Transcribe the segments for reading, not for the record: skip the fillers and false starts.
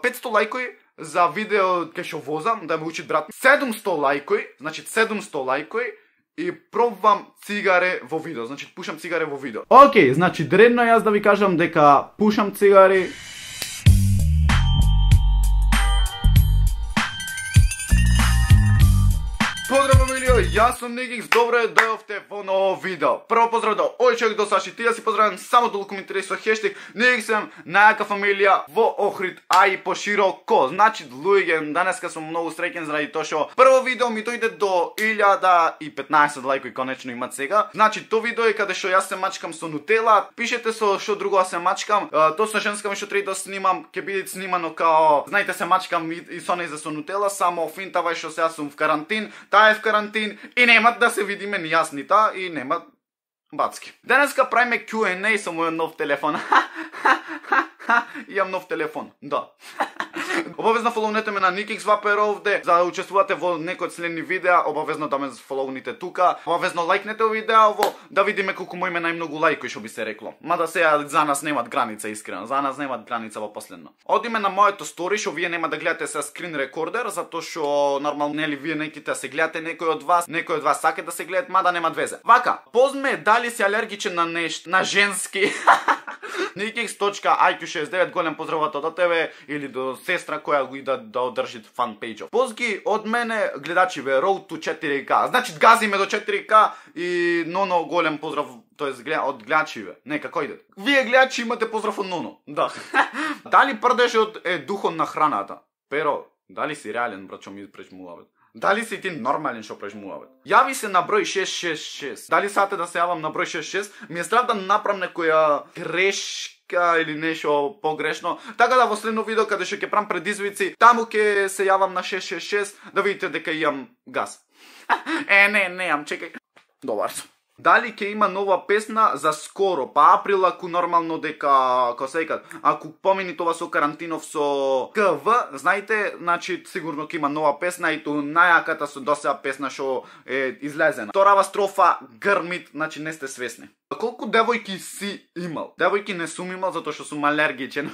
500 лајкови за видео кај што возам, да ме учи брат. 700 лајкови, значи 700 лајкови и пробвам цигаре во видео, значи пушам цигаре во видео. Океј, значи дредно јас да ви кажам дека пушам цигари. Поздраво, милио, јас сум Никикс, добро дојдовте во ново видео. Прво поздрав до овој човек до Саши, ти да си поздравам само толку ми интересува хештег Никиксем, најака фамилија во Охрид, а и пошироко. Значи, луѓе, данеска сум многу среќен заради тоа што прво видео ми дојде до 1015 лајкови конечно имат сега. Значи, тоа видео е каде што јас се мачкам со нутела. Пишете со што друго се мачкам. Тоа со женска ми што треба да снимам, ќе биде снимано као, знаете, се мачкам и со нејза со нутела, само финтава што сега сум в карантин. Таа е в карантин и нема да се видиме ни јас ни таа и нема бацки. Денеска правиме Q&A со мојот нов телефон. Имам нов телефон, да. Обавезно фоловнете ме на Никикс Вапер овде, за да учествувате во некои од следни видеа, обавезно да ме фоловните тука, обавезно лајкнете видео, да видиме колку му име најмногу лајкови што би се рекло. Мада сега за нас немат граница искрено, за нас немат граница во последно. Одиме на моето стори што вие нема да гледате со скрин рекордер, затоа што нормално нели вие неките се гледате некој од вас сака да се гледат, мада нема везе. Вака, позме дали си алергичен на нешто, на женски. Nikix.IQ69, голем поздрав до тебе или до сестра која го ида да одржи фан пејџов. Позги од мене гледачиве Road to 4K. Значи газиме до 4K и Ноно голем поздрав, тоест од гледачиве. Нека кој иде. Вие гледачи имате поздрав од Ноно. Да. Дали прдешот е духот на храната? Pero, дали си реален брат што ми пречмуваве? Дали си ти нормален што прежмуваве? Јави се на број 666. Дали сате да се јавам на број 66? Ми е страв да направам некоја грешка или нешто погрешно. Така да во следно видео каде што ќе правам предизвици, таму ќе се јавам на 666 да видите дека имам газ. Не, чекај. Добар сум. Дали ќе има нова песна за скоро, па април ако нормално дека, како се викат, ако помени тоа со карантинов со КВ, знаете, значи сигурно ќе има нова песна и ту најаката со досега песна што е излезена. Вторава строфа грмит, значи не сте свесни. Колку девојки си имал? Девојки не сум имал затоа што сум алергичен.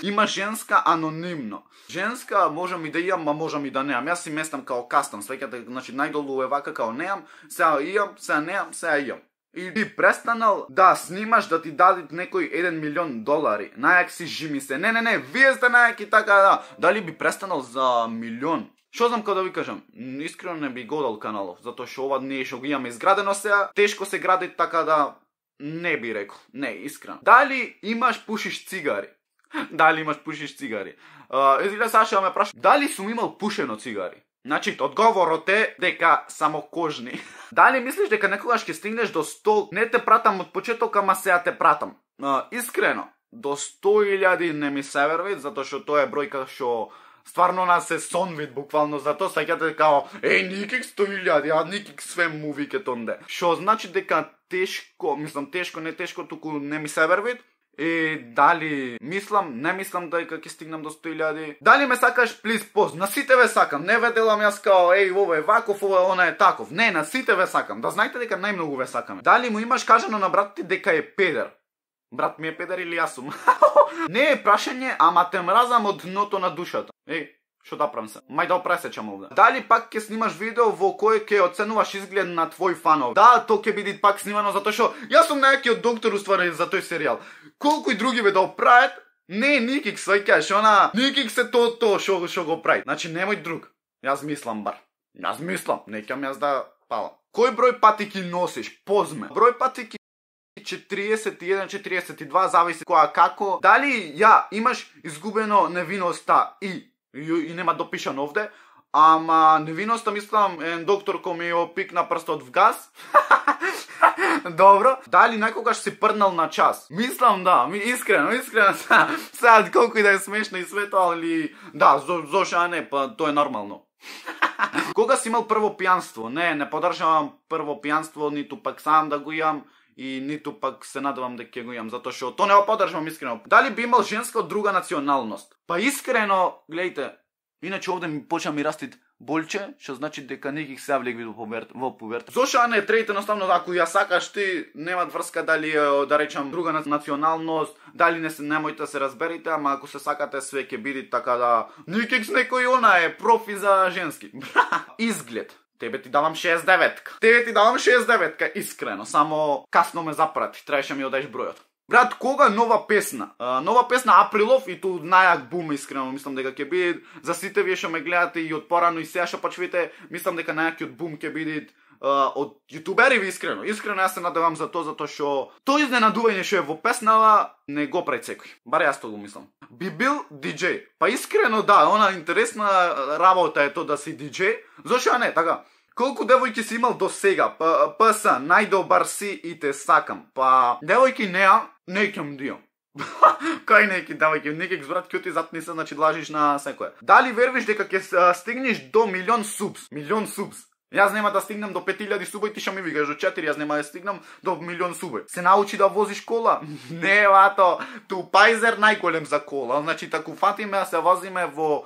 Има женска анонимно. Женска можам и да имам, а можам и да неам. Јас си местам као кастом, свеќате, значи најдолу е вака као неам, сега имам, сега неам, сега имам. И ти престанал да снимаш да ти дадат некој $1 милион. Најак си жими се. Не, вие сте најаки така да. Дали би престанал за милион? Што знам како да ви кажам? Искрено не би годал каналов, затоа што ова не е што го имаме изградено сега, тешко се гради така да не би рекол. Не, искрено. Дали имаш пушиш цигари? Дали имаш пушиш цигари? Изгледа Саша ме праша, дали сум имал пушено цигари? Значи, одговорот е дека само кожни. Дали мислиш дека некогаш ќе стигнеш до 100? Не те пратам од почеток, ама сега те пратам. Искрено, до 100.000 не ми се верви, затоа што тоа е бројка што стварно нас се сонвит буквално, затоа саќате као Никикс 100.000, а Никикс све му вике тонде. Што значи дека тешко, мислам тешко, не тешко, туку не ми се верви. И дали мислам, не мислам дека ќе стигнам до 100.000. Дали ме сакаш, плиз пост, на сите ве сакам. Не ве делам јас као ова е ваков, ова она е таков. Не, на сите ве сакам. Да знаете дека најмногу ве сакаме. Дали му имаш кажано на брат ти дека е педер? Брат ми е педер или јас сум? Не е прашање, ама те мразам од дното на душата. Што да правам се? Мај да опресечам овде. Дали пак ќе снимаш видео во кој ќе оценуваш изглед на твој фанов? Да, тоа ќе биде пак снимано затоа што јас сум најакиот доктор уствари за тој серијал. Колку и други ве да оправат, не Никикс, саќаш, она Никикс е тоа што го прави. Значи немој друг. Јас мислам бар. Јас мислам, неќам јас да палам. Кој број патики носиш? Позме. Број патики 41, 42, зависи која како. Дали имаш изгубено невиноста и нема допишан овде, ама невиноста мислам доктор кој ми опикна прстот в газ. Добро. Дали некогаш си прднал на час? Мислам да, искрено. Сега колку и да е смешно и свето, али да, зошто не, па тоа е нормално. Кога си имал прво пијанство? Не поддржавам прво пијанство, ниту пак сам да го имам. И ниту пак се надевам дека ќе го имам, затоа што тоа не го поддржувам искрено. Дали би имал женска од друга националност? Па искрено, гледайте, иначе овде ми почна ми растит болче, што значи дека неких се влегви во пуверт. Зошто а не трети едноставно ако ја сакаш ти, нема врска дали да речам друга националност, дали немојте да се разберите, ама ако се сакате све ќе биде така да неких некој она е профи за женски. Изглед. Тебе ти давам 69-ка. Тебе ти давам 69-ка, искрено, само касно ме запрати, требаше ми одеш бројот. Брат, кога нова песна? Нова песна Априлов и ту најак бум, искрено, мислам дека ќе биде за сите вие што ме гледате и од порано и сега што пачвите, мислам дека најакиот бум ќе биде од јутубери, искрено. Искрено јас се надевам за тоа, затоа што тој изненадување што е во песнава не го прави секој. Бар јас тоа го мислам. Би бил диџеј. Па искрено да, она интересна работа е тоа да си диџеј. Зошто не, така? Колку девојки си имал до сега? ПС, најдобар си и те сакам. Па девојки неа, некем дио. Кај неки девојки, некек збрат ќе ти затни се, значи лажиш на секоја. Дали вервиш дека ќе стигнеш до милион субс? Милион субс. Јас нема да стигнам до 5000 суба и ти што ми викаш до 4, јас нема да стигнам до милион суба. Се научи да возиш кола? Не, вато, ту Пайзер најголем за кола. Значи, таку фатиме да се возиме во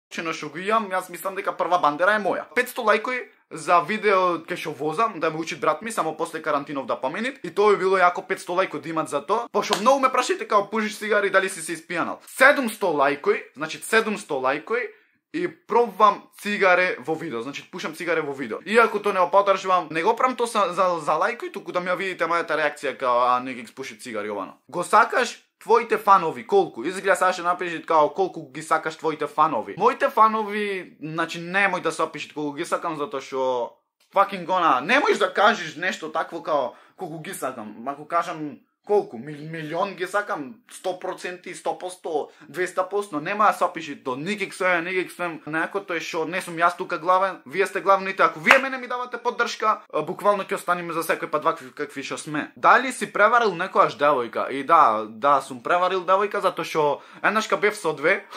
чено што го имам, јас мислам дека прва бандера е моја. 500 лајкови за видео кај што возам, да ме учи брат ми, само после карантинов да поменит. И тоа би било јако 500 лајко да имат за тоа. Пошто многу ме прашајте као пушиш цигари дали си се испијанал. 700 лајкови, значи 700 лајкови и пробвам цигаре во видео, значи пушам цигаре во видео. Иако тоа не го поддржувам, не го правам тоа за лајкови, туку да ми ја видите мојата реакција као не ги спуши цигари овано. Го сакаш твоите фанови колку? Изгледа сега ќе напишеш као колку ги сакаш твоите фанови. Моите фанови, значи немој да се опишете колку ги сакам затоа што fucking гона, немојш да кажеш нешто такво као колку ги сакам. Ако кажам колку? Милион ги сакам, 100%, 100%, 200%, нема да се опиши то. Никак свем, некото е шо, не сум јас тука главен, вие сте главните. Ако вие мене ми давате поддршка, буквално ќе останеме за секој пат вакви какви што сме. Дали си преварил некојаш девојка? И да, сум преварил девојка затоа што еднашка бев со две.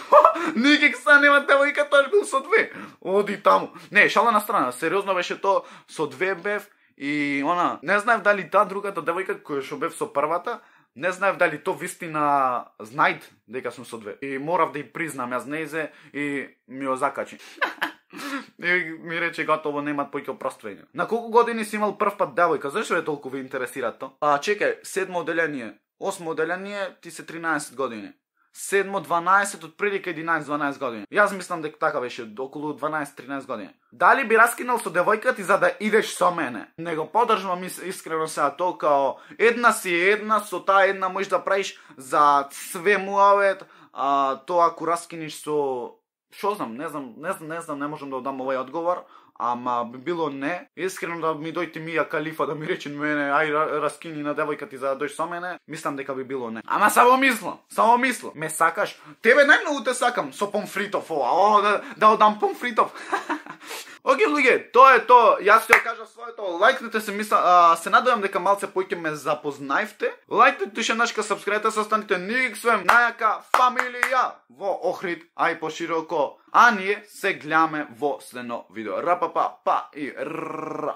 Никак са нема девојка, тоа бил со две. Оди таму. Не, шала на страна, сериозно беше тоа, со две бев. И она, не знаев дали таа другата девојка која што бев со првата, не знаев дали то вистина знајд дека сум со две. И морав да ја признам јас нејзе и ми ја закачи. И ми рече готово, немат поќе опроствање. На колку години си имал прв пат девојка? Зашто е толку ви интересира тоа? Чекај, 7 оделение, 8 оделение, ти се 13 години. 7, 12, од прилика 11-12 години. Јас мислам дека така беше, околу 12-13 години. Дали би раскинал со девојка ти за да идеш со мене? Не го поддржувам искрено сега тоа као една си една, со таа една можеш да правиш за све муавет, тоа ако раскиниш со шо знам, не знам, не можам да дам овој одговор. Ама би било не. Искрено да ми дојде Мија Калифа да ми рече мене, ај раскини на девојка ти за да дојдеш со мене, мислам дека би било не. Ама само мислам. Ме сакаш? Тебе најмногу те сакам со помфритов ова. Да одам помфритов. Океј, луѓе, тоа е тоа. Јас ќе кажа своето. Лајкнете се, се надевам дека малце поќе ме запознаевте. Лајкнете шенашка, сабскрајбте се, останите никак свем најака фамилија во Охрид, ај пошироко. А ние се гледаме во следно видео. Рапапа, па и ра.